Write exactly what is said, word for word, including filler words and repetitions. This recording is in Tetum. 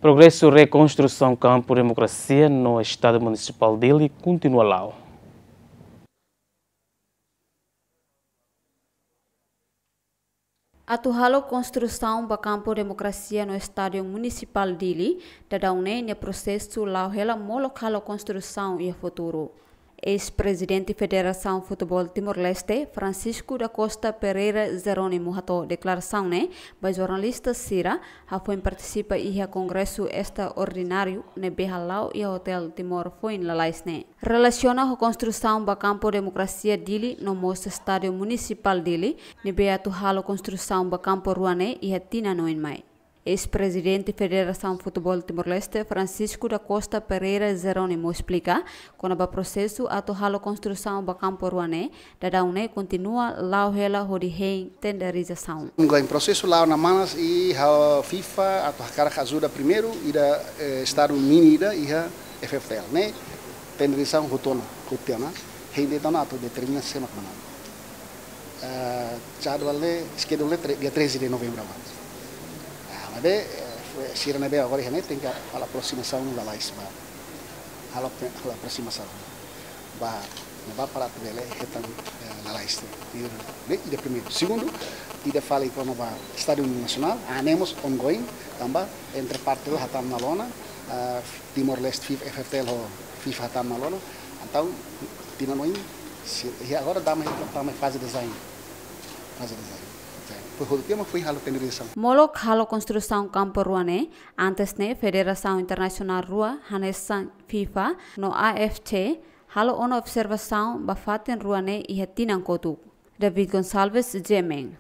Progresu rekonstrusaun kampu demokrasia no Estádiu Munisipál Dili kontinua la'o. Atu halo konstrusaun ba kampu demokrasia no Estádiu Munisipál Dili, daudaun ne'e nia prosesu la'o hela molok halo konstrusaun iha futuru. Eis-prezidente Federasaun Futeból Timor-Leste, Francisco da Costa Pereira Jerónimo hato'o deklarasaun ne'e ba jornalista sira, hafoin partisipa iha kongresu estraordináriu ne'ebé hala'o iha Hotel Timor foin lalais ne'e. Relasiona ho konstrusaun ba kampu demokrasia Dili no mós Estádiu Munisipál Dili, ne'ebé atu halo konstrusaun ba kampu rua ne'e iha tinan oin mai. Eis-prezidente Federasaun Futeból Timor-Leste, Francisco da Costa Pereira Jerónimo, esplika kona-ba prosesu atu halo konstrusaun ba kampu rua ne'e, daudaun ne'e kontinua la'o hela hodi hein tenderizasaun. Agora prosesu la'o ona manas i ha'u FIFA atu hakarak ajuda primeiru ida, eh, estádiu mini ida iha F F T L ne'e, tenderizasaun hotu ona, hotu ona, hein de'it ona atu determina sé mak manán. Eh, jadwal ne'e, schedule ne'e tre-, dia treze de novembro agora. Ah, maibé, eh, foin sira ne'ebé agora iha ne'e tenke halo aprosimasaun lalais ba. Halo, halo aprosimasaun ba, ne'ebá para atu bele hetan, eh, lalais ne'e. Ida, ne'e ida primeiru. Segundu, ida fali kona-ba Estádiu Nasionál, ah, ne'e mós ongoing, tanba entre parte hatán ona lona, ah, Timor-Leste, FIFA, F F T L ho FIFA hatán ona lona. Entaun, tinan oin, se, i agora tama, tama faze design. Faze design. Foin hotu tiha mak foin halo tenderizasaun. Molok halo konstrusaun kampu rua ne'e, antes ne'e federasaun internasionál rua, hanesan FIFA no A F C, halo ona observasaun ba fatin rua ne'e iha tinan kotuk. David Gonçalves, G M N.